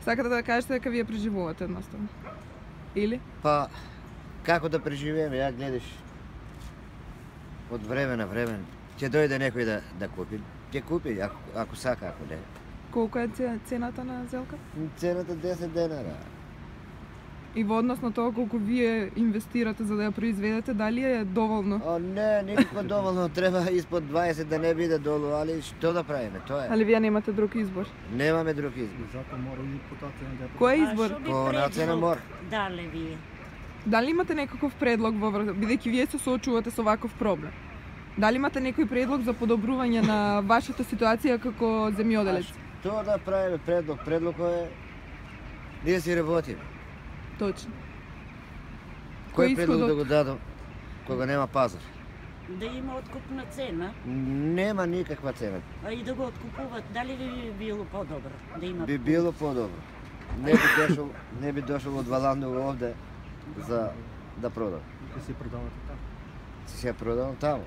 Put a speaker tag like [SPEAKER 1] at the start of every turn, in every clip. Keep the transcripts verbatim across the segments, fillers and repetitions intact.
[SPEAKER 1] Сакате да кажете дека вие преживувате едноставно? Или?
[SPEAKER 2] Па, како да преживееме, ја гледаш од време на време, ќе дојде некој да, да купи, ќе купи, ако, ако сака, ако не.
[SPEAKER 1] Колку е цената на зелка?
[SPEAKER 2] Цената десет денара.
[SPEAKER 1] И во однос на тоа колку вие инвестирате за да ја произведете, дали е доволно?
[SPEAKER 2] О, не, никако доволно, треба испод дваесет да не биде долу, али што да правиме, тоа е.
[SPEAKER 1] Али вие немате друг избор?
[SPEAKER 2] Немаме друг избор.
[SPEAKER 3] Затоа мора и по таа цена да ја
[SPEAKER 1] Кој е
[SPEAKER 4] А
[SPEAKER 1] избор?
[SPEAKER 4] што би
[SPEAKER 2] По на цена
[SPEAKER 4] предлог
[SPEAKER 2] мора.
[SPEAKER 4] дале вие?
[SPEAKER 1] Дали имате некаков предлог во врз, бидејќи вие се соочувате со ваков проблем? Дали имате некој предлог за подобрување на вашата ситуација како земјоделец?
[SPEAKER 2] Тоа да правиме предлог, предлог е ние си работиме.
[SPEAKER 1] Точно.
[SPEAKER 2] Кој
[SPEAKER 1] Кој
[SPEAKER 2] предлог
[SPEAKER 1] исходот?
[SPEAKER 2] да го дадам кога нема пазар?
[SPEAKER 4] Да има откупна цена,
[SPEAKER 2] Нема никаква цена.
[SPEAKER 4] а и да го откупуват, дали би било по-добро да има?
[SPEAKER 2] Би било подобро. Не би дошол, не би дошол од Валандово овде за да продам.
[SPEAKER 3] Ќе си продавате така.
[SPEAKER 2] Си се продавам таму.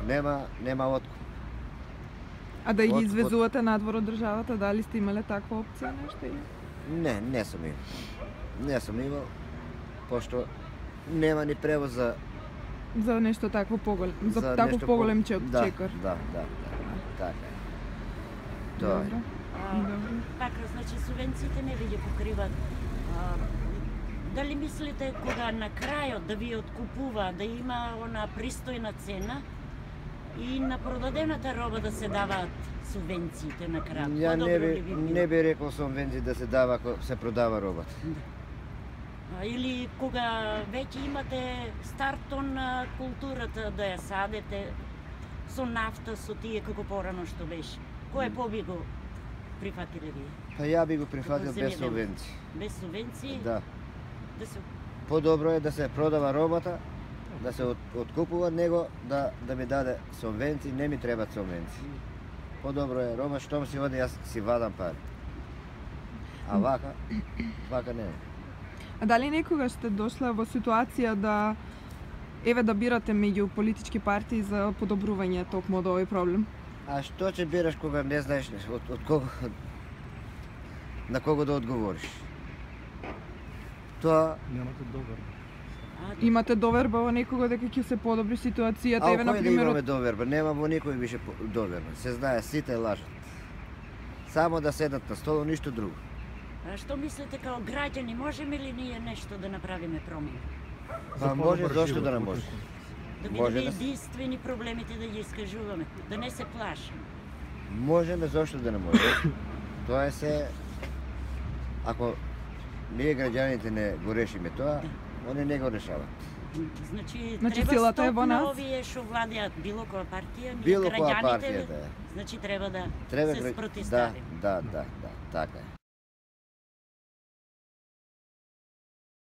[SPEAKER 2] Нема, нема откуп.
[SPEAKER 1] А да ги
[SPEAKER 2] Од-
[SPEAKER 1] извезувате надвор од државата, дали сте имале таква опција нешто или?
[SPEAKER 2] Не, не сум имал. Не сум имал, пошто нема ни превоз за
[SPEAKER 1] За нешто такво поголем, за,
[SPEAKER 2] за
[SPEAKER 1] таков
[SPEAKER 2] нешто
[SPEAKER 1] поголем
[SPEAKER 2] по-
[SPEAKER 1] чек,
[SPEAKER 2] да,
[SPEAKER 1] чекор.
[SPEAKER 2] Да, да, да. Така е. Тоа е.
[SPEAKER 1] Добро.
[SPEAKER 4] А,
[SPEAKER 1] Добро.
[SPEAKER 4] Така, значи субвенциите не ви ги покриват. А, дали мислите кога на крајот да ви откупува, да има она пристојна цена и на продадената роба да се даваат субвенциите на крајот?
[SPEAKER 2] Ја не
[SPEAKER 4] Подобро
[SPEAKER 2] би,
[SPEAKER 4] ли би било?
[SPEAKER 2] не би рекол субвенци да се дава ако се продава робата.
[SPEAKER 4] А, Или кога веќе имате стартон на културата да ја садете со нафта, со тие како порано што беше. Кој по-би го прифатиле вие?
[SPEAKER 2] Па ја би го прифатил
[SPEAKER 4] Како
[SPEAKER 2] без
[SPEAKER 4] земјоделец.
[SPEAKER 2] субвенци.
[SPEAKER 4] Без субвенции?
[SPEAKER 2] Да.
[SPEAKER 4] Да се...
[SPEAKER 2] Подобро е да се продава робата, да се от, откупува, него да, да ми даде субвенции, не ми требаат субвенции. Подобро е роба, штом си оди, јас си вадам пари. А вака, вака не е.
[SPEAKER 1] А дали некогаш сте дошла во ситуација да еве да бирате меѓу политички партии за подобрување токму од овој проблем?
[SPEAKER 2] А што ќе бираш кога не знаеш од, од кого, на кого да одговориш? Тоа,
[SPEAKER 3] Немате добар.
[SPEAKER 4] А,
[SPEAKER 1] Имате доверба во некого дека ќе се подобри ситуацијата,
[SPEAKER 2] а
[SPEAKER 1] еве на
[SPEAKER 2] кој да
[SPEAKER 1] пример
[SPEAKER 2] имаме доверба? Нема во никој више по- доверба. Се знае, сите лажат. Само да седат на столо, ништо друго.
[SPEAKER 4] А што мислите као граѓани, можеме ли ние нешто да направиме промени?
[SPEAKER 2] Па може, зошто да не може?
[SPEAKER 4] Да
[SPEAKER 2] Може
[SPEAKER 4] бидеме
[SPEAKER 2] да се-
[SPEAKER 4] единствени проблемите да ги искажуваме, да не се плашиме.
[SPEAKER 2] Можеме, зошто да не може? Тоа е се... Ако ние граѓаните не го решиме тоа, они не го решават.
[SPEAKER 4] Значи,
[SPEAKER 1] Значи,
[SPEAKER 4] треба
[SPEAKER 1] силата е
[SPEAKER 4] стоп
[SPEAKER 1] во
[SPEAKER 4] на
[SPEAKER 1] нас?
[SPEAKER 4] овие што владеат било која партија, ние
[SPEAKER 2] Било која
[SPEAKER 4] граѓаните,
[SPEAKER 2] партија да е.
[SPEAKER 4] значи треба да
[SPEAKER 2] Треба
[SPEAKER 4] се
[SPEAKER 2] гра- да,
[SPEAKER 4] спротиставиме.
[SPEAKER 2] да, да, да, така е.